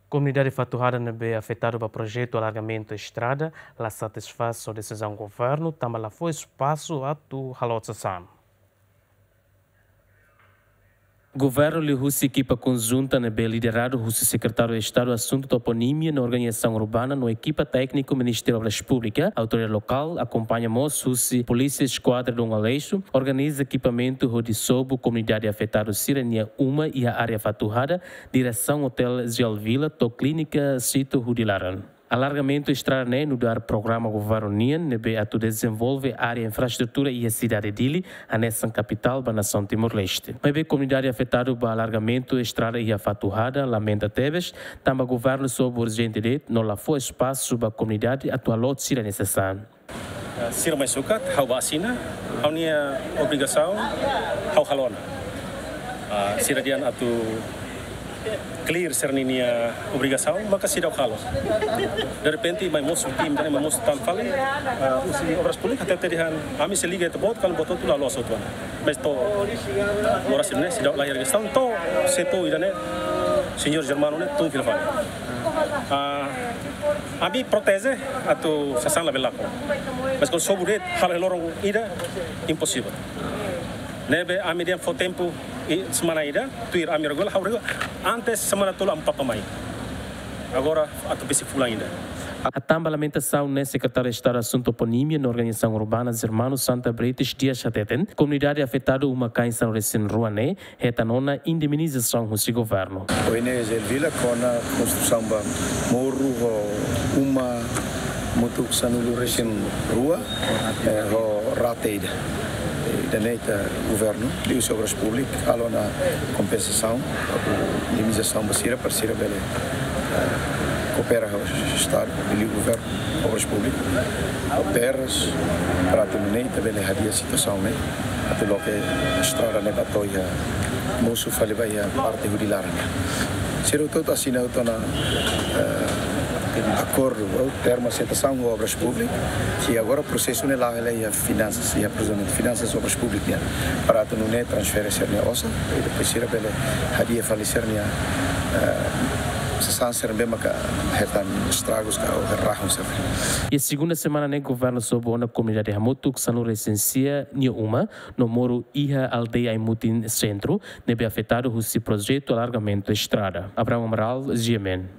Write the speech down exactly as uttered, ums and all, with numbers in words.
Komunidade Fatuhada ne'ebé afetadu ba projetu alargamentu estrada la satisfás ho desizaun governu, tanba la fó espasu atu halo sasán. Governu liuhusi ekipa konjunta ne'ebé lideradu husi Sekretáriu Estadu Asuntu Toponímia no Organizasaun Urbana no ekipa tékniku Ministériu Obras Públikas, autoridade lokál, akompaña mós husi Polísia Eskuadra Dom Aleixo, organiza ekipamentu hodi sobu komunidade afetadu sira-nia uma iha área Fatuhada, diresaun Hotel Zial Villa, to'o Klínika Sito Hudi Laran. Alargamentu estrada ne'e nu'udar programa governu nian ne'ebé atu dezenvolve área infraestrutura iha sidade Dili, hanesan kapitál ba nasaun Timor-Leste. Maibé komunidade afetadu ba alargamentu estrada iha Fatuhada lamenta tebes, tanba governu sobu urjente de'it no la fó espasu ba komunidade atu halo sira-nia sasán. Ah, sira mai sukat, ha'u bá asina, ha'u-nia obrigasaun, ha'u halo ona. Ah, sira dehan atu clear sira-nia obrigasaun, maka seidauk halo. Derrepente, mai mosu tim, mai mosu tan fali, ah, husi Obras Públikas, hatete dehan, ami sei liga ita-boot, karik buat hotu la loos hotu ona. Mas to'o, oras ne'e, seidauk la iha registrasaun, to'o, setór ida-ne'e, señór Germano ne'e, tun fila fali. Ah, ami proteje atu sasán labele lakon. Mas kuandu sobu de'it, halo iha loron ida, imposivel. Ne'ebé ami dehan fó tempu, i semana ida, tuir ami regula, ha'u regula. Antes semana tolu ami papa mai. Agora, atu besik fulan ida. Hatán ba lamentasaun ne'e, Sekretáriu Estadu Asuntu Toponímia no Organizasaun Urbana Germano Santa Brites Dias hateten, komunidade afetadu uma-kain sanulu-resin-rua ne'e hetan ona indemnizasaun husi governu. Ohin ne'e Zial Villa kona konstrusaun ba moru ho uma hamutuk sanulu-resin-rua, eh, ho rate ida. Ida-ne'e ita governu, liuhusi Obras Públikas, halo ona kompensasaun, indemnizasaun ba sira, para sira bele, eh, koopera ho Estadu, liuliu governu, Obras Públikas, koopera, para atu nune'e ita bele hadi'a situasaun ne'e, atu loke estrada ne'e ba to'o iha, mosu fali ba iha parte Hudi Laran. Sira hotu asina hotu ona, eh, akordu, ou termu aseitasaun ho Obras Públikas, i agora prosesu ne'e la'o hela iha finansas, iha, por ezemplu, finansas, Obras Públikas nian, para atu nune'e transfere sira-nia osan, i depois sira bele hadi'a fali sira-nia, eh, sasán sira ne'ebé maka hetan estragus ka ou rahun sira. Iha segunda semana ne'e governu sobu ona komunidade hamutuk sanulu-resin-sia nia uma no moru iha aldeia Aimutin Sentru, ne'ebé afetadu husi projetu alargamentu estrada. Abraham Amaral, G M N.